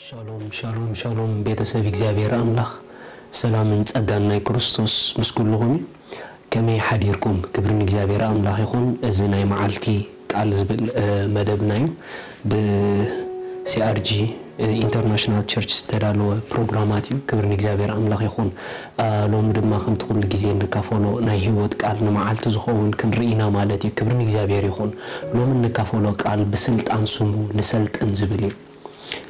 ሻሎም ሻሎም ሻሎም፣ ቤተሰብ እግዚኣብሔር ኣምላኽ፣ ሰላምን ጸጋን ናይ ክርስቶስ ምስ ኩልኹም እዩ። ከመይ ሓዲርኩም? ክብሪ ንእግዚኣብሔር ኣምላኽ ይኹን። እዚ ናይ መዓልቲ ቃል ዝብል መደብና እዩ። ብ CRG ኢንተርናሽናል ቸርች ዝተዳለወ ፕሮግራማት እዩ። ክብሪ ንእግዚኣብሔር ኣምላኽ ይኹን። ሎሚ ድማ ከምቲ ኩሉ ግዜ እንካፈሎ ናይ ህይወት ቃል ንመዓልቲ ዝኸውን ክንርኢ ኢና ማለት እዩ። ክብሪ ንእግዚኣብሔር ይኹን። ሎሚ እንካፈሎ ቃል ብስልጣን ስሙ ንሰልጥን ዝብል እዩ።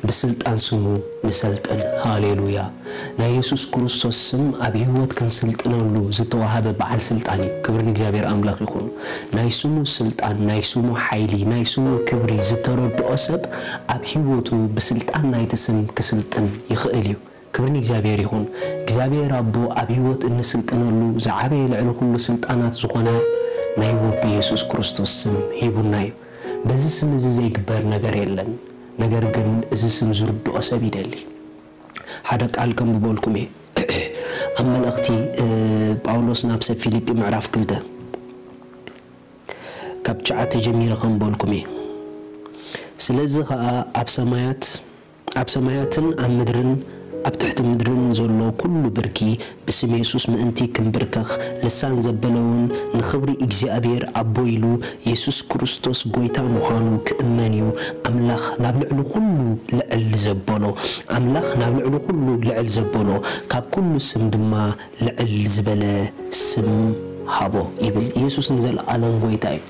ብስልጣን ስሙ ንሰልጥን። ሃሌሉያ። ናይ የሱስ ክርስቶስ ስም ኣብ ህይወት ክንስልጥነሉ ዝተዋሃበ በዓል ስልጣን እዩ። ክብሪ ንእግዚኣብሔር ኣምላኽ ይኹን። ናይ ስሙ ስልጣን፣ ናይ ስሙ ሓይሊ፣ ናይ ስሙ ክብሪ ዝተረድኦ ሰብ ኣብ ህይወቱ ብስልጣን ናይቲ ስም ክስልጥን ይኽእል እዩ። ክብሪ ንእግዚኣብሔር ይኹን። እግዚኣብሔር ኣቦ ኣብ ህይወት እንስልጥነሉ ዝዓበየ ልዕሊ ኩሉ ስልጣናት ዝኾነ ናይ ወዱ የሱስ ክርስቶስ ስም ሂቡና እዩ። በዚ ስም እዚ ዘይግበር ነገር የለን። ነገር ግን እዚ ስም ዝርድኦ ሰብ ይደሊ። ሓደ ቃል ከንብበልኩም እየ። ኣብ መልእኽቲ ጳውሎስ ናብ ሰብ ፊልጲ ምዕራፍ ክልተ ካብ ትሽዓተ ጀሚረ ከንበልኩም እየ። ስለዚ ኸኣ ኣብ ሰማያት ኣብ ሰማያትን ኣብ ምድርን ኣብ ትሕቲ ምድርን ዘሎ ኩሉ ብርኪ ብስም የሱስ ምእንቲ ክንብርከኽ፣ ልሳን ዘበለ እውን ንኽብሪ እግዚኣብሔር ኣቦ ኢሉ የሱስ ክርስቶስ ጐይታ ምዃኑ ክእመን እዩ። ኣምላኽ ናብ ልዕሊ ኩሉ ልዕል ዘበሎ፣ ኣምላኽ ናብ ልዕሊ ኩሉ ልዕል ዘበሎ፣ ካብ ኩሉ ስም ድማ ልዕል ዝበለ ስም ሃቦ ይብል። የሱስ ንዘለኣለም ጐይታ እዩ።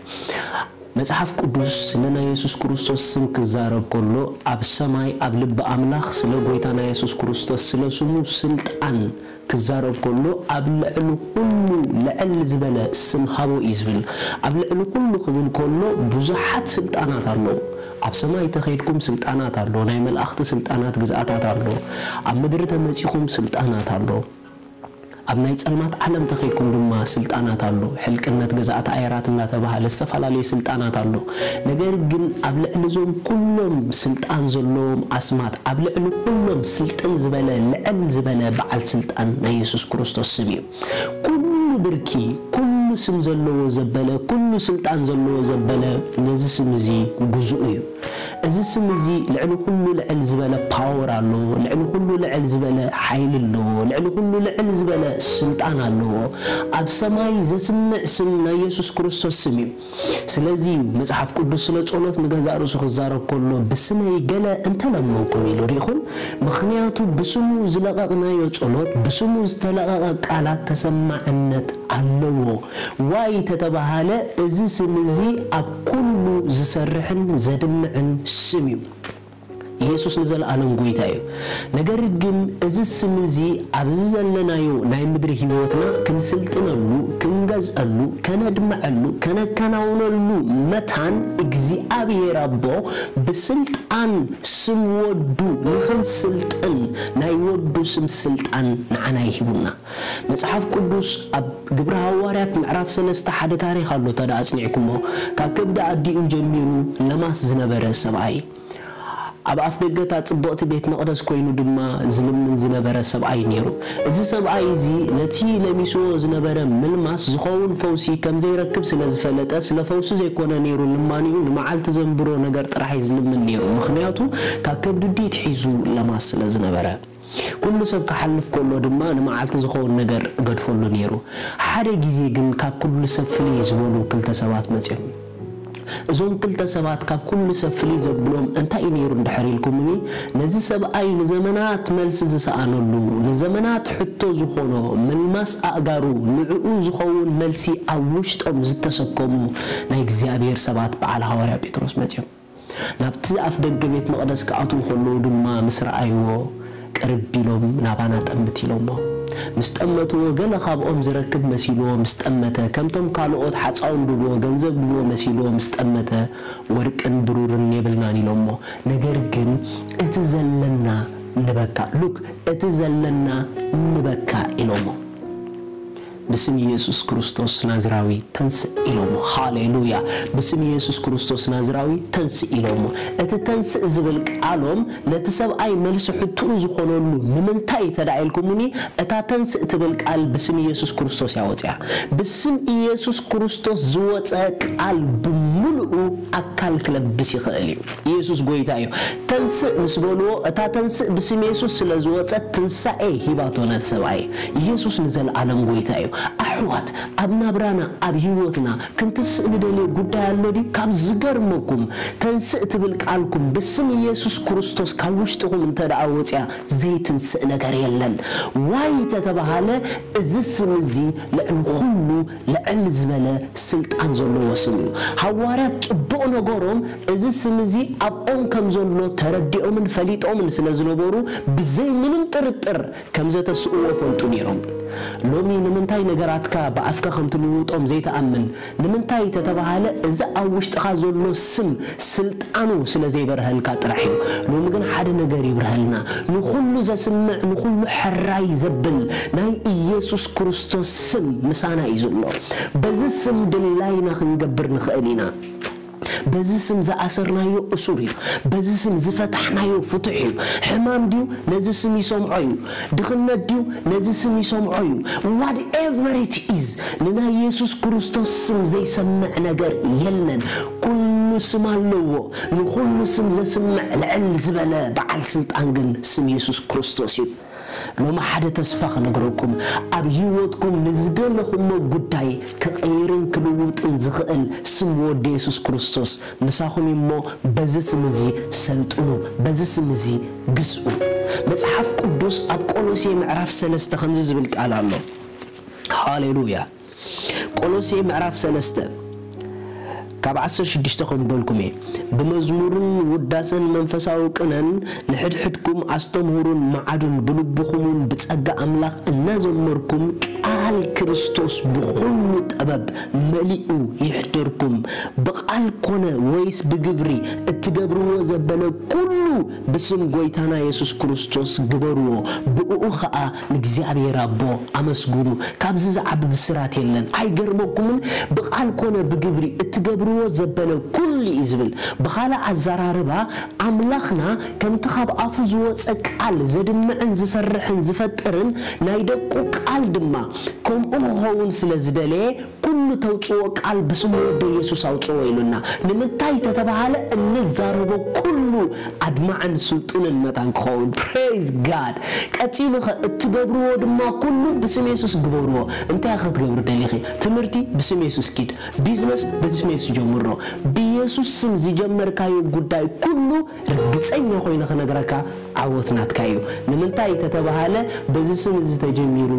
መጽሓፍ ቅዱስ ስለ ናይ የሱስ ክርስቶስ ስም ክዛረብ ከሎ፣ ኣብ ሰማይ ኣብ ልቢ ኣምላኽ ስለ ጐይታና የሱስ ክርስቶስ ስለ ስሙ ስልጣን ክዛረብ ከሎ፣ ኣብ ልዕሊ ኩሉ ልዕል ዝበለ ስም ሃቦ እዩ ዝብል። ኣብ ልዕሊ ኩሉ ክብል ከሎ ብዙሓት ስልጣናት ኣለዉ። ኣብ ሰማይ ተኸይድኩም ስልጣናት ኣሎ፣ ናይ መላእኽቲ ስልጣናት ግዝኣታት ኣሎ፣ ኣብ ምድሪ ተመጺኹም ስልጣናት ኣሎ። ኣብ ናይ ጸልማት ዓለም ተኸይድኩም ድማ ስልጣናት ኣሎ። ሕልቅነት፣ ገዛእቲ ኣየራት እናተባህለ ዝተፈላለየ ስልጣናት ኣሎ። ነገር ግን ኣብ ልዕሊ እዞም ኩሎም ስልጣን ዘለዎም ኣስማት፣ ኣብ ልዕሊ ኩሎም ስልጥን ዝበለ፣ ልዕል ዝበለ በዓል ስልጣን ናይ የሱስ ክርስቶስ ስም እዩ። ኩሉ ብርኪ፣ ኩሉ ስም ዘለዎ ዘበለ፣ ኩሉ ስልጣን ዘለዎ ዘበለ ነዚ ስም እዚ ግዙኡ እዩ። እዚ ስም እዚ ልዕሊ ኩሉ ልዕል ዝበለ ፓወር ኣለዎ፣ ልዕሊ ኩሉ ልዕል ዝበለ ሓይሊ ኣለዎ፣ ልዕሊ ኩሉ ልዕል ዝበለ ስልጣን ኣለዎ። ኣብ ሰማይ ዘስምዕ ስም ናይ የሱስ ክርስቶስ ስም እዩ። ስለዚ እዩ መጽሓፍ ቅዱስ ስለ ጸሎት ንገዛእ ርእሱ ክዛረብ ከሎ፣ "ብስመይ ገለ እንተለመንኩም" ኢሉ። ርኢኹም? ምኽንያቱ ብስሙ ዝለቐቕናዮ ጸሎት፣ ብስሙ ዝተለቐቐ ቃላት ተሰማዕነት ኣለዎ። ዋይ ተተባሃለ፣ እዚ ስም እዚ ኣብ ኩሉ ዝሰርሕን ዘድምዕን ስም እዩ። የሱስ ንዘለኣለም ጐይታ እዩ። ነገር ግን እዚ ስም እዚ ኣብዚ ዘለናዮ ናይ ምድሪ ህይወትና ክንስልጥነሉ፣ ክንገዝአሉ፣ ከነድምዐሉ፣ ከነከናውነሉ መታን እግዚኣብሔር ኣቦ ብስልጣን ስም ወዱ ንኽንስልጥን ናይ ወዱ ስም ስልጣን ንዓና ይሂቡና። መጽሓፍ ቅዱስ ኣብ ግብሪ ሃዋርያት ምዕራፍ ሰለስተ ሓደ ታሪኽ ኣሎ፣ እንተ ደኣ ኣጽኒዕኩሞ፣ ካብ ከብዲ ኣዲኡ ጀሚሩ ለማስ ዝነበረ ሰብኣይ፣ ኣብ ኣፍ ደገ እታ ጽብቕቲ ቤት መቕደስ ኮይኑ ድማ ዝልምን ዝነበረ ሰብኣይ ነይሩ። እዚ ሰብኣይ እዚ ነቲ ለሚስዎ ዝነበረ ምልማስ ዝኸውን ፈውሲ ከም ዘይረክብ ስለ ዝፈለጠ፣ ስለ ፈውሲ ዘይኮነ ነይሩ ልማኒኡ፣ ንመዓልቲ ዘንብሮ ነገር ጥራሕ እዩ ዝልምን ነይሩ። ምኽንያቱ ካብ ከብዲ ኣዲኡ ኣትሒዙ ለማስ ስለ ዝነበረ። ኩሉ ሰብ ክሓልፍ ከሎ ድማ ንመዓልቲ ዝኸውን ነገር እገድፈሉ ነይሩ። ሓደ ግዜ ግን ካብ ኩሉ ሰብ ፍልይ ዝበሉ ክልተ ሰባት መጺኦም። እዞም ክልተ ሰባት ካብ ኩሉ ሰብ ፍልይ ዘብሎም እንታይ እዩ ነይሩ እንድሕር ኢልኩምኒ፣ ነዚ ሰብኣይ ንዘመናት መልሲ ዝሰኣነሉ፣ ንዘመናት ሕቶ ዝኾኖ፣ ምልማስ ኣእጋሩ ንዕኡ ዝኸውን መልሲ ኣብ ውሽጦም ዝተሰከሙ ናይ እግዚኣብሔር ሰባት በዓል ሃዋርያ ጴጥሮስ መጺኦም። ናብቲ ኣፍ ደገ ቤት መቕደስ ክኣትዉ ከለዉ ድማ ምስ ረኣይዎ፣ ቅርብ ኢሎም ናባና ጠምት ኢሎሞ። ምስ ጠመትዎ፣ ገለ ካብኦም ዝረክብ መሲልዎ ምስ ጠመተ፣ ከምቶም ካልኦት ሓጻውን ድብዎ፣ ገንዘብ ድብዎ መሲልዎ ምስ ጠመተ፣ "ወርቅን ብሩርን የብልናን" ኢሎሞ። ነገር ግን እቲ ዘለና ንበካ፣ ሉክ፣ እቲ ዘለና ንበካ ኢሎሞ። ብስም ኢየሱስ ክርስቶስ ናዝራዊ ተንስእ ኢሎሞ። ሃሌሉያ። ብስም ኢየሱስ ክርስቶስ ናዝራዊ ተንስእ ኢሎሞ። እቲ ተንስእ ዝብል ቃሎም ነቲ ሰብኣይ መልሲ ሕትኡ ዝኾነሉ ንምንታይ እንተ ደኣ ኢልኩምኒ፣ እታ ተንስእ ትብል ቃል ብስም ኢየሱስ ክርስቶስ እያ ወፂኣ። ብስም ኢየሱስ ክርስቶስ ዝወፀ ቃል ብምሉኡ ኣካል ክለብስ ይኽእል እዩ። ኢየሱስ ጎይታ እዩ። ተንስእ ምስ በልዎ፣ እታ ተንስእ ብስም ኢየሱስ ስለ ዝወፀት ትንሳኤ ሂባቶ ነቲ ሰብኣይ። ኢየሱስ ንዘለኣለም ጎይታ እዩ። ኣሕዋት፣ ኣብ ናብራና፣ ኣብ ህይወትና ክንትስእ ንደልዮ ጉዳይ ኣሎ ድዩ? ካብ ዝገርመኩም፣ ተንስእ ትብል ቃልኩም ብስም ኢየሱስ ክርስቶስ ካብ ውሽጥኹም እንተ ደኣ ወፂኣ ዘይትንስእ ነገር የለን። ዋይ ተተባሃለ፣ እዚ ስም እዚ ልዕሊ ኩሉ ልዕል ዝበለ ስልጣን ዘለዎ ስም እዩ። ሃዋርያት ጽቡቕ ነገሮም እዚ ስም እዚ ኣብኦም ከም ዘሎ ተረዲኦምን ፈሊጦምን ስለ ዝነበሩ ብዘይ ምንም ጥርጥር ከም ዘተስእዎ ፈልጡ ነይሮም። ሎሚ ንምንታይ ነገራትካ ብኣፍካ ከም ትልውጦም ዘይትኣምን? ንምንታይ ተተባሃለ እዚ ኣብ ውሽጥኻ ዘሎ ስም ስልጣኑ ስለ ዘይበርሀልካ ጥራሕ እዩ። ሎሚ ግን ሓደ ነገር ይብርሀልና። ንኹሉ ዘስምዕ፣ ንኹሉ ሕራይ ዘብል ናይ ኢየሱስ ክርስቶስ ስም ምሳና እዩ ዘሎ። በዚ ስም ድላይና ክንገብር ንኽእል ኢና። በዚ ስም ዝኣሰርናዮ እሱር እዩ። በዚ ስም ዝፈታሕናዮ ፍቱሕ እዩ። ሕማም ድዩ? ነዚ ስም ይሰምዖ እዩ። ድኽነት ድዩ? ነዚ ስም ይሰምዖ እዩ። Whatever it is፣ ንናይ የሱስ ክርስቶስ ስም ዘይሰምዕ ነገር የለን። ኩሉ ስም ኣለዎ። ንኹሉ ስም ዘስምዕ ልዕል ዝበለ በዓል ስልጣን ግን ስም የሱስ ክርስቶስ እዩ። ሎሚ ሓደ ተስፋ ክነግረኩም፣ ኣብ ህይወትኩም ንዝደለኹሞ ጉዳይ ክቐይርን ክልውጥን ዝኽእል ስም ወዲ የሱስ ክርስቶስ ምሳኹም እዩ እሞ፣ በዚ ስም እዚ ሰልጥኑ፣ በዚ ስም እዚ ግዝኡ። መጽሓፍ ቅዱስ ኣብ ቆሎሴ ምዕራፍ ሰለስተ ከምዚ ዝብል ቃል ኣሎ። ሃሌሉያ። ቆሎሴ ምዕራፍ ሰለስተ ካብ ዓሰርተ ሽዱሽተ ከም በልኩም እየ። ብመዝሙርን ውዳሰን መንፈሳዊ ቅነን ንሕድሕድኩም ኣስተምህሩን መዓዱን፣ ብልብኹምን ብጸጋ ኣምላኽ እናዘመርኩም፣ ቃል ክርስቶስ ብኹሉ ጥበብ መሊኡ ይሕደርኩም። ብቓል ኮነ ወይስ ብግብሪ፣ እትገብርዎ ዘበለ ኩሉ ብስም ጐይታና የሱስ ክርስቶስ ግበርዎ፣ ብእኡ ኸኣ ንእግዚኣብሔር ኣቦ ኣመስግኑ። ካብዚ ዝዓቢ ብስራት የለን። ኣይገርመኩምን? ብቓል ኮነ ብግብሪ እትገብርዎ ዘበለ ኩሉ እዩ ዝብል። ብኻልእ ኣዘራርባ፣ ኣምላኽና ከምቲ ካብ ኣፉ ዝወጸ ቃል ዘድምዕን ዝሰርሕን ዝፈጥርን ናይ ደቁ ቃል ድማ ከምኡ ክኸውን ስለ ዝደለየ፣ ኩሉ ተውጽኦ ቃል ብስም ወዲ የሱስ ኣውጽኦ ኢሉና። ንምንታይ ተተባሃለ፣ እንዛረቦ ኩሉ ኣድማዕን ስልጡንን መታን ክኸውን። Praise God። ቀጺሉ ኸ፣ እትገብርዎ ድማ ኩሉ ብስም የሱስ ግበርዎ። እንታይ ኸ ክትገብሪ ደሊኺ? ትምህርቲ ብስም የሱስ ኪድ። ቢዝነስ ብስም የሱስ ጀምሮ። ብየሱስ ስም ዝጀመርካዮ ጉዳይ ኩሉ ርግጸኛ ኮይነ ክነግረካ ዓወት ናትካ እዩ። ንምንታይ ተተባሃለ፣ በዚ ስም እዚ ተጀሚሩ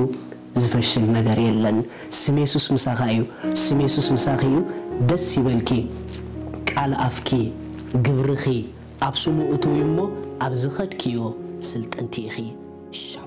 ዝፈሽል ነገር የለን። ስም የሱስ ምሳኻ እዩ። ስም የሱስ ምሳኺ እዩ። ደስ ይበልኪ። ቃል ኣፍኪ፣ ግብርኺ ኣብ ስሙ እትዊ እሞ፣ ኣብ ዝኸድክዮ ስልጥንቲ ኢኺ። ሻሎም።